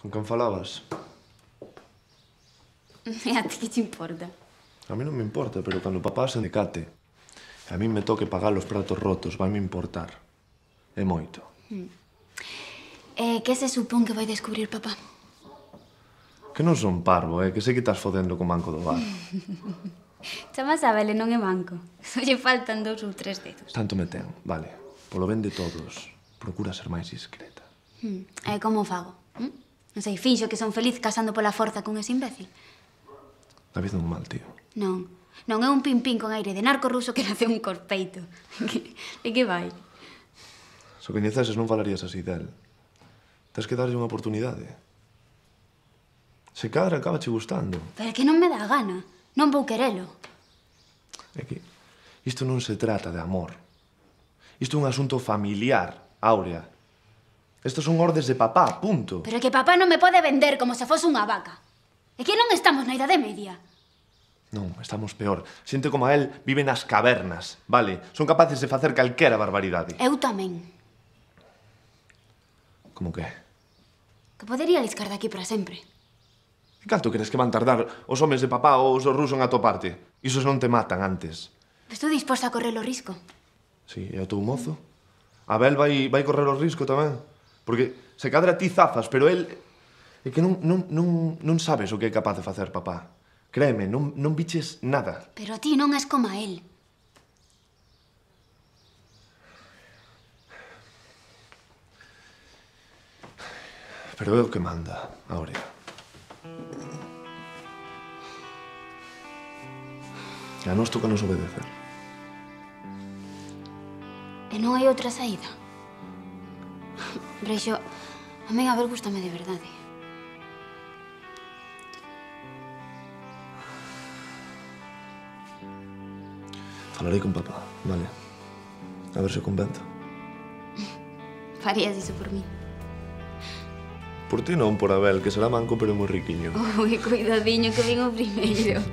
Con quen falabas? E a ti que te importa? A mí non me importa, pero cando papá se decate e a mí me toque pagar os pratos rotos, vai me importar. É moito. E que se supón que vai descubrir papá? Que non son parvo, que sei que estás fodendo co manco do bar. Chamas a Bele, non é manco. Só lle faltan 2 ou 3 dedos. Tanto me ten, vale. Polo ben de todos, procura ser máis discreta. E como fago? Non sei, finxo que son feliz casando pola forza con ese imbécil. David non mal, tío. Non, non é un pin-pin con aire de narco ruso que nace un corpeito. De que vai? Se o coñeceses non falarías así del. Tens que darlle unha oportunidade. Se cadra, acabache gustando. Pero é que non me dá gana. Non vou querelo. É que isto non se trata de amor. Isto é un asunto familiar, Áurea. Estos son ordes de papá, punto. Pero é que papá non me pode vender como se fose unha vaca. É que non estamos na Idade Media. Non, estamos peor. Xente como a él vive nas cavernas, vale? Son capaces de facer calquera barbaridade. Eu tamén. Como que? Que podería liscar daqui para sempre. E canto crees que van tardar os homes de papá ou os rusos en atoparte? Isos non te matan antes. Estou disposta a correr o risco. Sí, e o teu mozo? Abel vai correr o risco tamén. Porque se cadra ti zafas, pero el... É que non sabes o que é capaz de facer papá. Créeme, non biches nada. Pero ti non és como a él. Pero é o que manda, Áurea. E a nos toca nos obedecer. E non hai outra saída. Breixo, a min Abel gústame de verdade. Falarei con papá, vale? A ver se convento. Farías iso por mí. Por ti non, por Abel, que será manco pero moi riquiño. Ui, cuidadiño que vin o primeiro.